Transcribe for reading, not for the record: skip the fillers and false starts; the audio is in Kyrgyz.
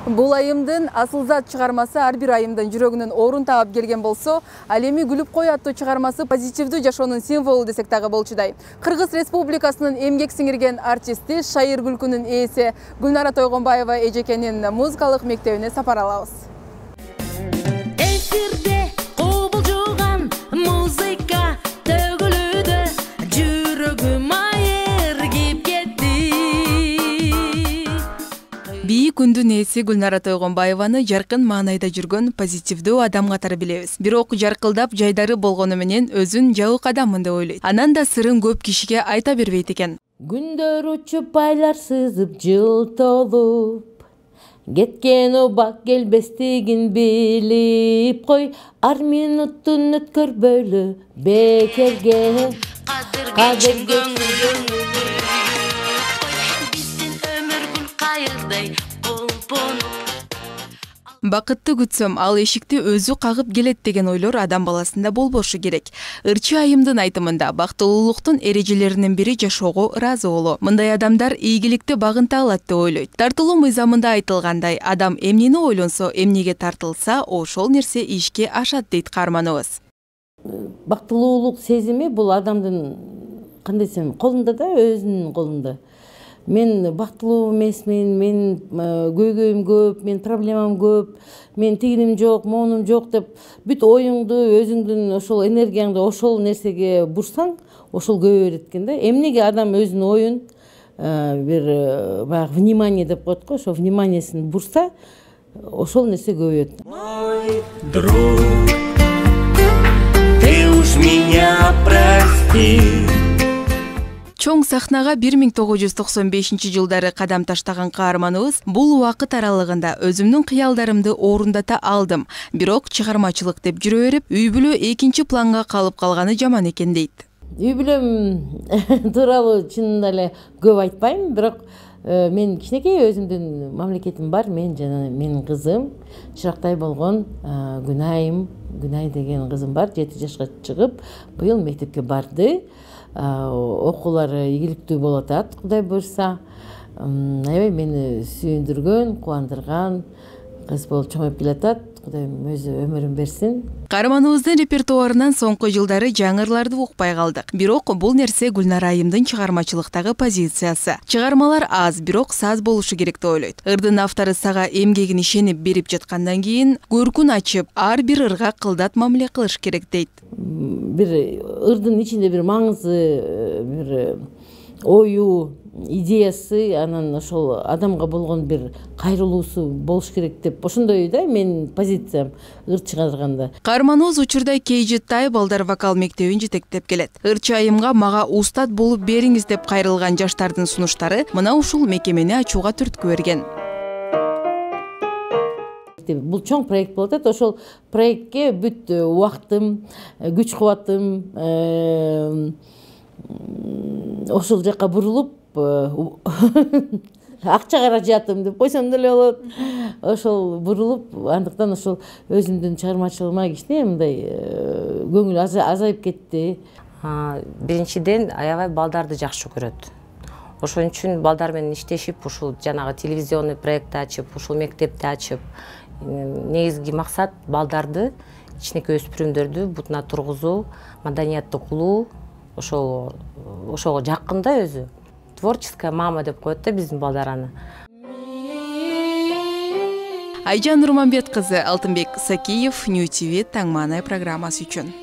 Бул айымдын Асылзат чыгармасы ар бир айымдын жүрөгүнөн орун таап келген болсо, ал эми күлүп кой аттуу чыгармасы позитивдүү жашоонун символу десек дагы болчудай. Кыргыз Республикасынын эмгек сиңирген артисти, шайыр күлкүнүн ээси Гүлнара Тойгонбаева эжекенин музыкалык мектебине сапар алабыз. Эфирде кобулжуган музыка төгүлүүдө жүрөгүм айыргип кетти. Бийик күндүн ээси Гүлнара Тойгонбаеваны жаркын маанайда жүргөн позитивдүү адам катары билебиз. Бирок жаркылдап жайдары болгону менен өзүн жабык адаммын деп ойлойт. Анан да сырын көп кишиге айта бербейт экен. Күндөр учуп айлар сызып жыл толуп, кеткен убак келбестигин билип кой, ар минуттун өткөрбөйлү бекерге. Кадырге Бакытты күтсөм, ал эшикти өзү кагып келет деген ойлор адам баласында болбошу керек. Ырчы айымдын айтымында бактылуулуктун эрежелеринин бири жашоого ыраазы болуу. Мындай адамдар ийгиликти багынта алат деп ойлойт. Тартылуу мыйзамында айтылгандай, адам эмнени ойлонсо, эмнеге тартылса, ошол нерсе ишке ашат дейт каарманыбыз. Бактылуулук сезими бул адамдын кандай десем, колунда да, өзүнүн колунда. Мен бактылуу эмесмин, мен көйгөйүм көп, мен проблемам көп, мен тигиним жок, моунум жок деп бүт оюңду, өзүңдүн ошол энергияңды ошол нерсеге бурсаң, ошол көбөйө берет экен да. Эмнеге адам өзүнүн оюн бир баягы внимание деп коет го, ошол вниманиесин бурса, ошол нерсе көбөйөт. Мой друг, ты уж меня прости. Чоң сахнага 1995-жылдары кадам таштаган каарманыбыз бул убакыт аралыгында өзүмдүн кыялдарымды орундата алдым. Бирок чыгармачылык деп жүрө берип, үй бүлө экинчи планга калып калганы жаман экен дейт. Үй бүлөм тууралуу чынында эле көп айтпайм, бирок мен кичинекей өзүмдүн мамлекетим бар. Мен жана менин кызым, чырактай болгон Гүнай деген кызым бар. 7 жашка чыгып, быйыл мектепке барды. Окуулары ийгиликтүү болуп атат, Кудай буйрса. Аябай мени сүйүндүргөн, кубандырган кыз болуп чоңоюп келатат. Кудайым өзү өмүрүн берсин. Каарманыбыздын репертуарынан соңку жылдары жаңырларды укпай калдык. Бирок бул нерсе Гүлнара айымдын чыгармачылыктагы позициясы. Чыгармалар аз, бирок саз болушу керек деп ойлойт. Ырдын автору сага эмгегин ишенип берип жаткандан кийин көркүн ачып, ар бир ырга кылдат мамиле кылыш керек дейт. Бир ырдын ичинде бир маңызы, бир ою, идеясы, анан ошол адамга болгон бир кайрылуусу болуш керек деп ошондой да менин позициям ыр чыгарганда. Каарманыбыз учурда KJ балдар вокал мектебин жетектеп келет. Ырчы айымга мага устат болуп бериңиз деп кайрылган жаштардын сунуштары мына ушул мекемени ачууга түрткү берген. Бул чоң проект болуп атат. Ошол проектке бүт убактым, күч кубатым ошол жака бурулуп, акча каражатым деп койсом деле болот. Ошол бурулуп, андыктан ошол өзүмдүн чыгармачылыгыма кичине мындай көңүл азайып кетти. Биринчиден аябай балдарды жакшы көрөт. Ошон үчүн балдар менен иштешип, ушул жанагы телевизионный проект ачып, ушул мектепти ачып, негизги максат балдарды, кичинекей өспүрүмдөрдү бутуна тургузуу, маданиятты кылуу, ошого жакын да өзү. Творческая мама деп коет да биздин балдар аны. Айжан Нурманбет кызы, Алтынбек Сакиев, Нью ТВ Таң Маанай программасы үчүн.